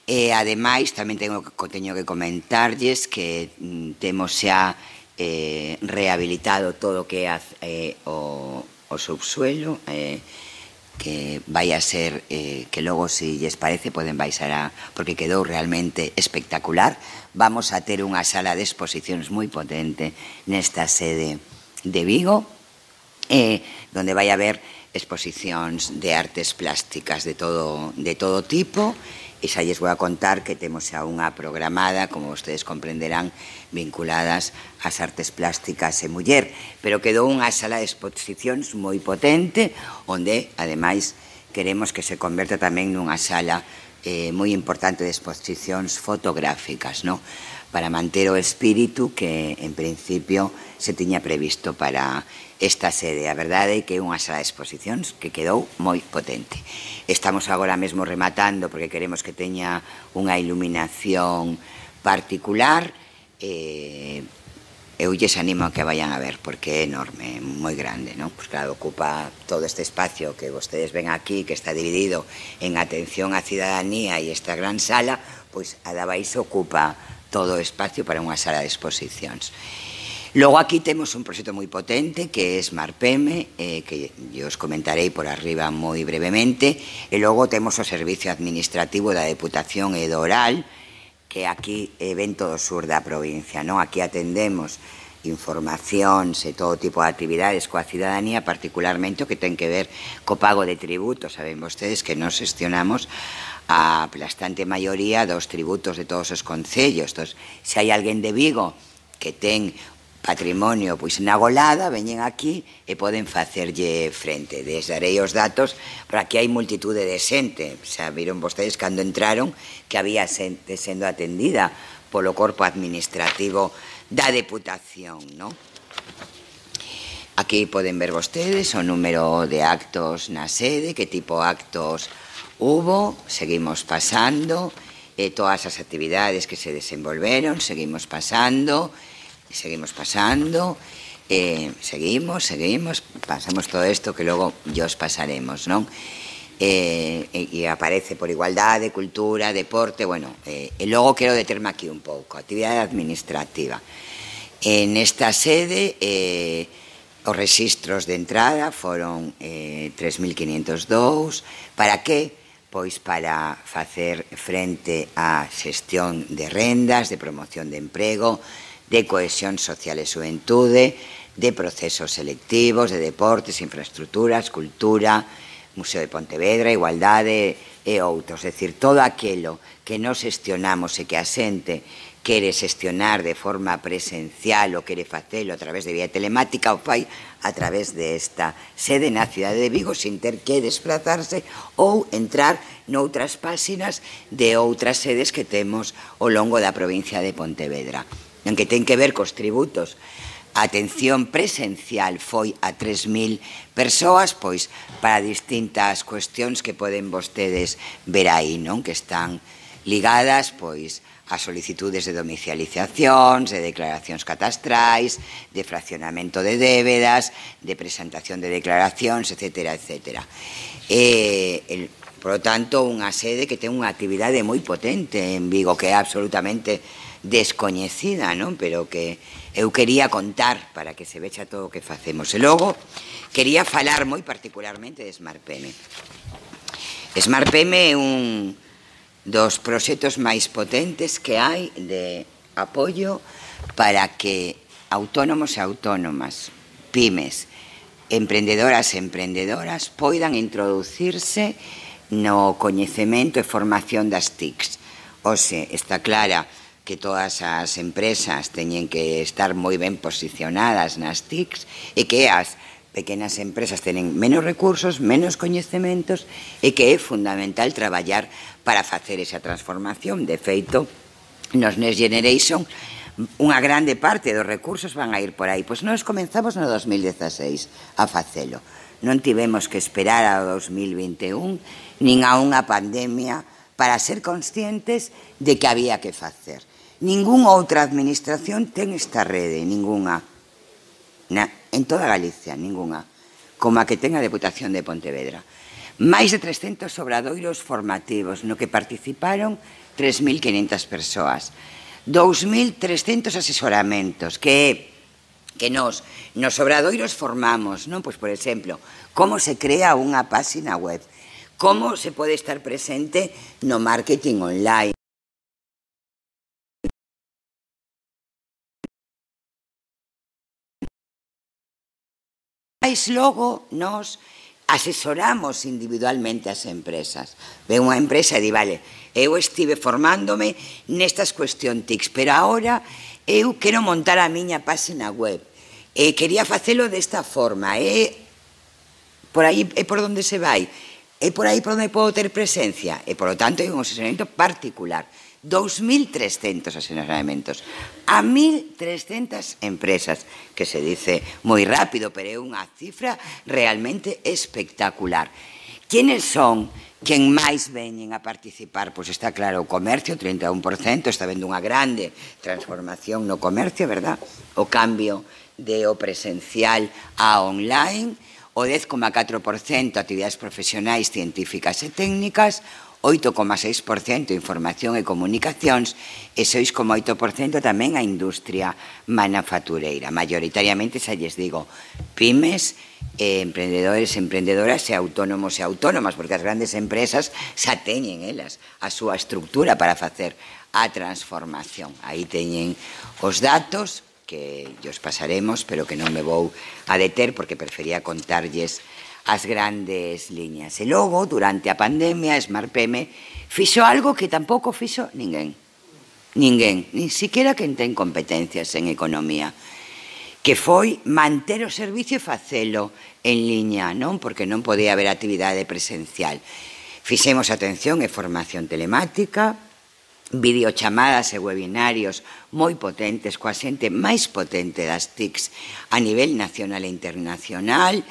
E, ademais, tamén teño, teño que comentarlles que mm, temos xa eh, rehabilitado todo o que é eh, o, o subsuelo, eh, que vai a ser, eh, que logo, se lles parece, poden baixar a, porque quedou realmente espectacular. Vamos a ter unha sala de exposicións moi potente nesta sede de Vigo, eh, donde vai haber exposicións de artes plásticas de todo, de todo tipo, e xa lles vou a contar que temos xa unha programada, como vostedes comprenderán, vinculadas ás artes plásticas e muller, pero quedou unha sala de exposicións moi potente, onde, ademais, queremos que se converta tamén nunha sala eh, moi importante de exposicións fotográficas, ¿no? Para manter o espírito que, en principio, se tiña previsto para esta sede. A verdade é que é unha sala de exposicións que quedou moi potente. Estamos agora mesmo rematando porque queremos que teña unha iluminación particular. Eh, eu lles animo a que vayan a ver porque é enorme, moi grande, non? Pois claro, ocupa todo este espacio que vostedes ven aquí, que está dividido en atención á cidadanía e esta gran sala, pois adabais ocupa todo o espacio para unha sala de exposicións. Logo aquí temos un proxecto moi potente que é SmartPeme, eh, que eu os comentarei por arriba moi brevemente, e logo temos o servicio administrativo da Deputación e do Oral, que aquí ven todo o sur da provincia, non? Aquí atendemos informacións e todo tipo de actividades coa cidadanía, particularmente o que ten que ver co pago de tributos. Saben vostedes que nos gestionamos a aplastante maioría dos tributos de todos os concellos. Entón, se hai alguén de Vigo que ten patrimonio pois na Golada, veñen aquí e poden facerlle frente. Desdarei os datos, pero aquí hai multitude de xente. Xa viron vostedes cando entraron que había xente sendo atendida polo corpo administrativo da Deputación, non? Aquí poden ver vostedes o número de actos na sede, que tipo de actos hubo, seguimos pasando, e todas as actividades que se desenvolveron, seguimos pasando, seguimos pasando, eh, seguimos, seguimos, pasamos todo isto que logo os pasaremos, non? Eh, e, e aparece por igualdade, cultura, deporte, bueno, eh, e logo quero determe aquí un pouco, actividade administrativa. En esta sede, eh, os registros de entrada foron eh, tres mil quinientos dous, para que? Pois para facer frente á xestión de rendas, de promoción de emprego, de cohesión social e xuventude, de procesos selectivos, de deportes, infraestructuras, cultura, Museo de Pontevedra, igualdade e outros. É dicir, todo aquilo que nos xestionamos e que a xente quere xestionar de forma presencial ou quere facelo a través de vía telemática, o fai a través desta sede na cidade de Vigo sin ter que desplazarse ou entrar noutras páxinas de outras sedes que temos ao longo da provincia de Pontevedra. En que ten que ver cos tributos. A atención presencial foi a tres mil persoas, pois para distintas cuestións que poden vostedes ver aí, non? Que están ligadas, pois, a solicitudes de domicilizacións, de declaracións catastrais, de fraccionamento de débedas, de presentación de declaracións, etcétera, etcétera. E, el, por lo tanto, unha sede que ten unha actividade moi potente en Vigo, que é absolutamente descoñecida, non? Pero que eu quería contar para que se vexa todo o que facemos. E logo, quería falar moi particularmente de SmartPeme. SmartPeme é un dos proxectos máis potentes que hai de apoio para que autónomos e autónomas, pymes, emprendedoras e emprendedoras poidan introducirse no coñecemento e formación das T I Cs. Ose, está clara que todas as empresas teñen que estar moi ben posicionadas nas T I Cs e que as pequenas empresas tenen menos recursos, menos coñecementos e que é fundamental traballar para facer esa transformación. De feito, nos Next Generation, unha grande parte dos recursos van a ir por aí. Pois nós comenzamos no dos mil dieciséis a facelo. Non tivemos que esperar ao dos mil vinte e un nin a unha pandemia para ser conscientes de que había que facer. Ninguna outra administración ten esta rede, ninguna. Na, en toda Galicia, ninguna, como a que ten a Deputación de Pontevedra. Máis de trescentos obradoiros formativos no que participaron tres mil quinhentas persoas, dous mil trescentos asesoramentos que que nos, nos obradoiros formamos, non? Pois, por exemplo, como se crea unha páxina web, como se pode estar presente no marketing online. Mais logo nos asesoramos individualmente as empresas. Ve unha empresa e di, vale, eu estive formándome nestas cuestión T I Cs, pero agora eu quero montar a miña página web e quería facelo desta forma, e por aí é por onde se vai, é por aí por onde podo ter presencia, e por lo tanto é un asesoramento particular. dous mil trescentos asesoramentos a mil trescentas empresas, que se dice moi rápido, pero é unha cifra realmente espectacular. Quenes son quen máis veñen a participar? Pois está claro, o comercio, trinta e un por cento, está vendo unha grande transformación no comercio, verdad? O cambio de o presencial a online, o dez coma catro por cento actividades profesionais, científicas e técnicas, oito coma seis por cento información e comunicacións e seis coma oito por cento tamén a industria manufactureira. Mayoritariamente, xa lles digo, pymes, eh, emprendedores, emprendedoras e autónomos e autónomas, porque as grandes empresas xa teñen elas a súa estructura para facer a transformación. Aí teñen os datos que os pasaremos, pero que non me vou a deter porque prefería contarlles as grandes liñas. E logo, durante a pandemia, SmartPeme fixo algo que tampouco fixo ninguén. Ninguén, nin siquiera quen ten competencias en economía, que foi manter o servicio e facelo en liña, non? Porque non podía haber actividade presencial. Fixemos atención e formación telemática, videochamadas e webinarios moi potentes, coa xente máis potente das T I Cs a nivel nacional e internacional.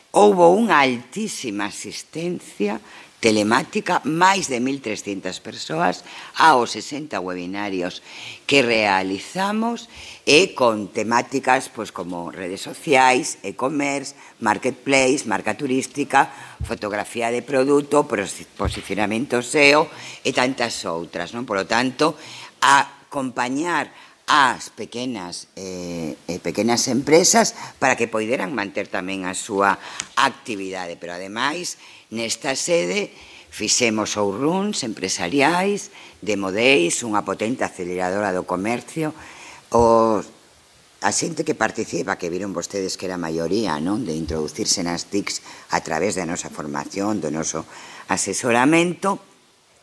Houbo unha altísima asistencia telemática, máis de mil trescentas persoas aos sesenta webinarios que realizamos e con temáticas pois, como redes sociais, e-commerce, marketplace, marca turística, fotografía de produto, posicionamento S E O e tantas outras. Non? Por lo tanto, a acompañar as pequenas, eh, pequenas empresas para que poideran manter tamén a súa actividade. Pero, ademais, nesta sede fixemos showrooms empresariais, Demo Days, unha potente aceleradora do comercio. Os, a xente que participa, que viron vostedes que era a maioría, non? De introducirse nas T I Cs a través da nosa formación, do noso asesoramento,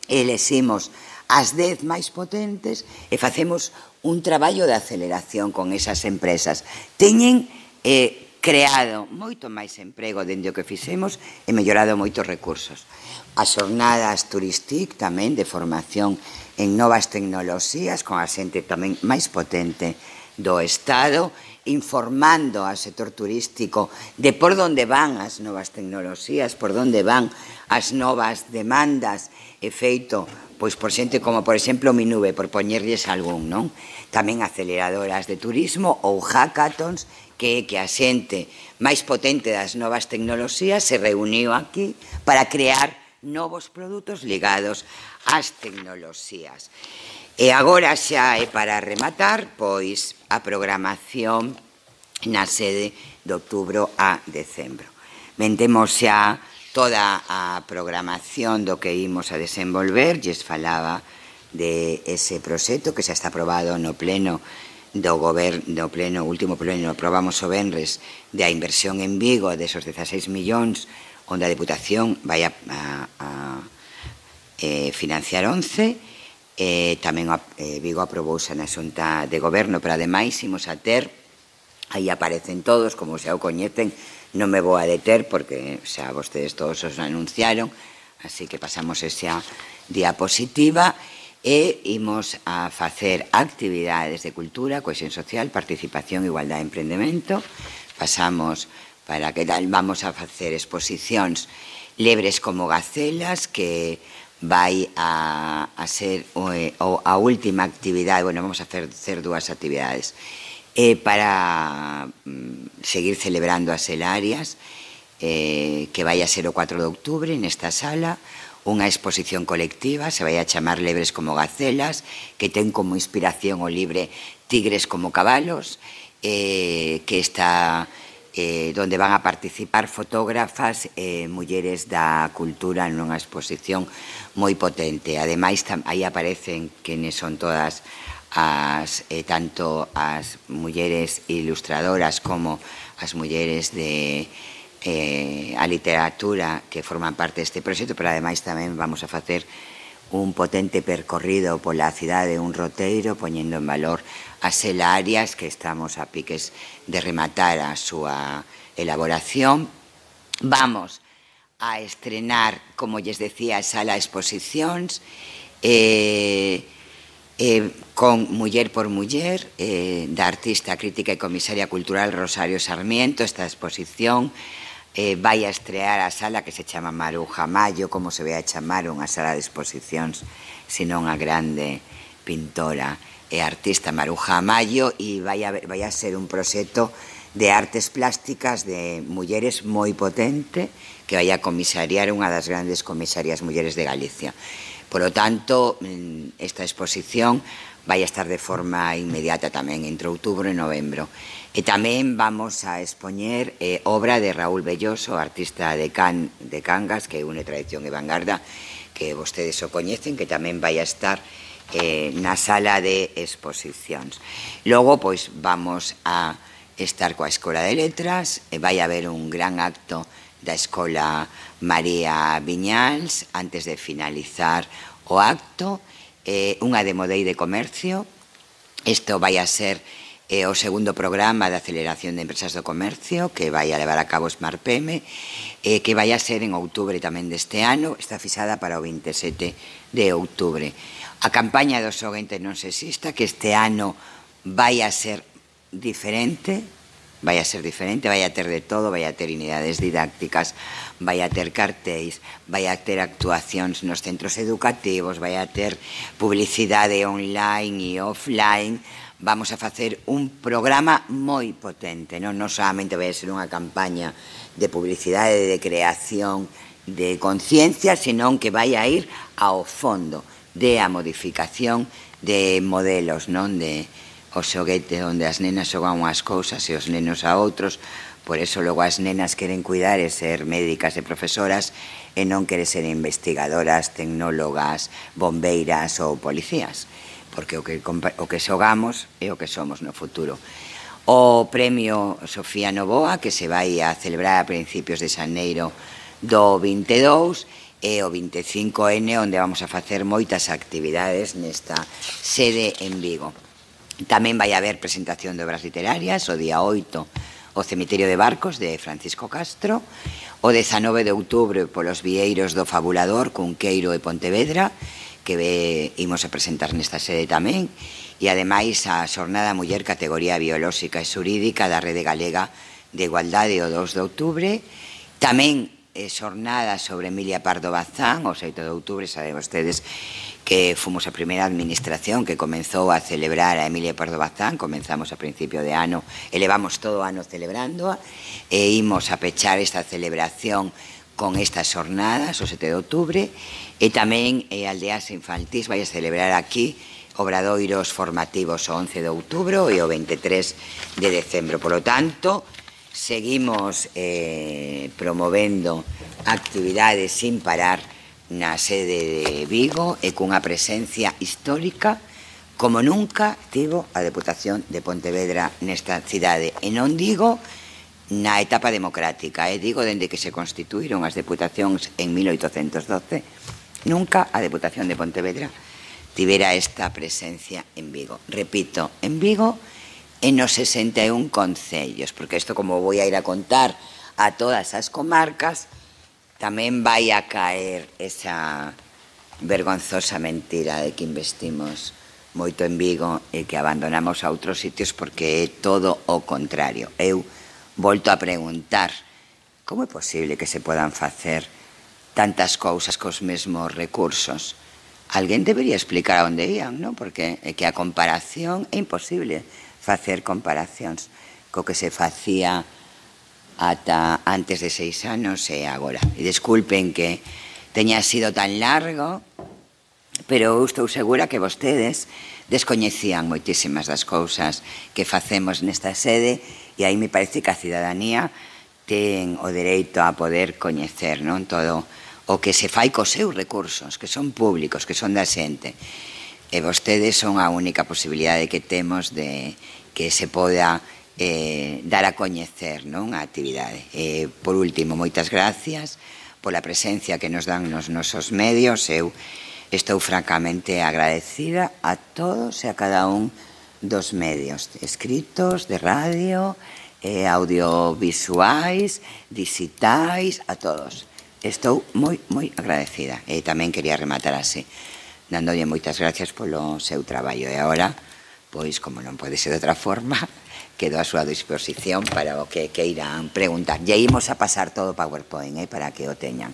eleximos as dez máis potentes e facemos un traballo de aceleración con esas empresas. Teñen eh, creado moito máis emprego dende o que fixemos e mellorado moitos recursos. As xornadas Turistic tamén de formación en novas tecnoloxías con a xente tamén máis potente do Estado, informando ao sector turístico de por onde van as novas tecnoloxías, por onde van as novas demandas e feito pois por xente como, por exemplo, Minube, por poñerlles algún, non? Tamén aceleradoras de turismo ou hackathons, que é que a xente máis potente das novas tecnoloxías se reuniu aquí para crear novos produtos ligados ás tecnoloxías. E agora xa é para rematar, pois, a programación na sede de outubro a decembro. Vendemos xa toda a programación do que imos a desenvolver, lles falaba de ese proxecto que xa está aprobado no pleno do goberno, do pleno, último pleno, aprobamos o venres da inversión en Vigo desos dezaseis millóns, onde a Deputación vai a, a, a eh, financiar once, eh, tamén eh, Vigo aprobouse na Xunta de Goberno, pero ademais imos a ter, aí aparecen todos, como xa o coñecen, non me vou a deter porque xa vostedes todos os anunciaron, así que pasamos esa diapositiva e imos a facer actividades de cultura, cohesión social, participación, igualdade e emprendemento. Pasamos para que tal, vamos a facer exposicións lebres como gacelas, que vai a, a ser o, o, a última actividade, bueno, vamos a facer dúas actividades, eh, para mm, seguir celebrando as Elarias, eh, que vai a ser o cuatro de outubro nesta sala, unha exposición colectiva, se vai a chamar Lebres como gacelas, que ten como inspiración o libre Tigres como cabalos, eh, que está eh, donde van a participar fotógrafas e eh, mulleres da cultura nunha exposición moi potente. Ademais, aí aparecen quenes son todas as, eh, tanto as mulleres ilustradoras como as mulleres de Eh, a literatura que forman parte deste proxecto, pero ademais tamén vamos a facer un potente percorrido pola cidade, un roteiro, poñendo en valor as Elarias, que estamos a piques de rematar a súa elaboración. Vamos a estrenar, como lles decía, a sala de exposicións, eh, eh, con Muller por Muller, eh, da artista, crítica e comisaria cultural Rosario Sarmiento. Esta exposición Eh, vai a estrear a sala que se chama Maruja Mayo, como se ve a chamar unha sala de exposicións, senón a grande pintora e artista Maruja Mayo, e vai a, vai a ser un proxecto de artes plásticas de mulleres moi potente, que vai a comisariar unha das grandes comisarias mulleres de Galicia. Por lo tanto, esta exposición vai a estar de forma inmediata tamén entre outubro e novembro. E tamén vamos a expoñer eh, obra de Raúl Belloso, artista de, Can, de Cangas, que une tradición e vanguarda, que vostedes o coñecen, que tamén vai a estar eh, na sala de exposicións. Logo, pois, vamos a estar coa Escola de Letras, e vai haber un gran acto da Escola María Viñals antes de finalizar o acto, eh, unha demo day de comercio. Isto vai a ser eh, o segundo programa de aceleración de empresas do comercio que vai a levar a cabo Smart P M, eh, que vai a ser en outubro tamén deste ano, está fixada para o veintisiete de outubro. A campaña do Xoguente non sexista, que este ano vai a ser diferente, vai a ser diferente, vai a ter de todo, vai a ter unidades didácticas, vai a ter cartéis, vai a ter actuacións nos centros educativos, vai a ter publicidade online e offline. Vamos a facer un programa moi potente, non, non solamente vai a ser unha campaña de publicidade, de creación, de conciencia, senón que vai a ir ao fondo de a modificación de modelos, non, de o xoguete onde as nenas xogan unhas cousas e os nenos a outros. Por eso logo as nenas queren cuidar e ser médicas e profesoras e non queren ser investigadoras, tecnólogas, bombeiras ou policías, porque o que, o que xogamos é o que somos no futuro. O premio Sofía Novoa, que se vai a celebrar a principios de xaneiro do vinte e dous, e o vinte e cinco ene, onde vamos a facer moitas actividades nesta sede en Vigo. Tamén vai haber presentación de obras literarias, o día oito, o Cemiterio de Barcos, de Francisco Castro, o dezanove de outubro, polos vieiros do Fabulador, Cunqueiro e Pontevedra, que ve, imos a presentar nesta sede tamén, e ademais a Xornada Muller Categoría Biolóxica e Xurídica da Rede Galega de Igualdade o dous de outubro, tamén eh, xornada sobre Emilia Pardo Bazán, o sete de outubro, saben vostedes que fomos a primeira administración que comenzou a celebrar a Emilia Pardo Bazán, comenzamos a principio de ano, e levamos todo o ano celebrándoa, e imos a pechar esta celebración con estas xornadas, o sete de outubro, e tamén eh, Aldeas Infantís vai a celebrar aquí obradoiros formativos o once de outubro e o veintitrés de decembro. Por lo tanto, seguimos eh, promovendo actividades sin parar na sede de Vigo e cunha presencia histórica como nunca tivo a Deputación de Pontevedra nesta cidade. E non digo na etapa democrática, eh, digo dende que se constituíron as deputacións en mil oitocentos doce, nunca a Deputación de Pontevedra tivera esta presencia en Vigo. Repito, en Vigo e nos sesenta e un concellos, porque isto, como vou a ir a contar a todas as comarcas, tamén vai a caer esa vergonzosa mentira de que investimos moito en Vigo e que abandonamos a outros sitios, porque é todo o contrario. Eu volto a preguntar, como é posible que se podan facer tantas cousas cos mesmos recursos? Alguén debería explicar a onde ían, non? Porque é que a comparación é imposible facer comparacións co que se facía ata antes de seis anos e agora. E desculpen que teña sido tan largo, pero eu estou segura que vostedes descoñecían moitísimas das cousas que facemos nesta sede, e aí me parece que a cidadanía ten o dereito a poder coñecer, non, todo o que se fai cos seus recursos, que son públicos, que son da xente. E vostedes son a única posibilidade que temos de que se poda eh, dar a coñecer, non, a actividade. E, por último, moitas gracias pola presencia que nos dan nos nosos medios. Eu estou francamente agradecida a todos e a cada un dos medios escritos, de radio, eh, audiovisuais, digitais, a todos. Estou moi, moi agradecida. E tamén quería rematar así, dándolle moitas gracias polo seu traballo. E agora, pois, como non pode ser de outra forma, quedo a súa disposición para o que queiran preguntar. E imos a pasar todo o PowerPoint, eh, para que o teñan.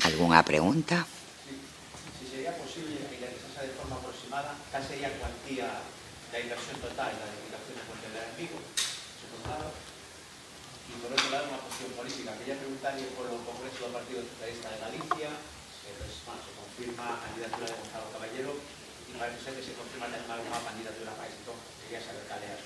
Algúnha pregunta? Si sería posible que realizase de forma aproximada, cal sería a cuantía da inversión total da Deputación de Pontevedra en Vigo? Y por otro lado, una cuestión política. Quería preguntarle por el Congreso del Partido Socialista de Galicia, se, pues, bueno, se confirma la candidatura de Gonzalo Caballero y parece ser que se confirma también alguna candidatura para esto. Quería saber cuál era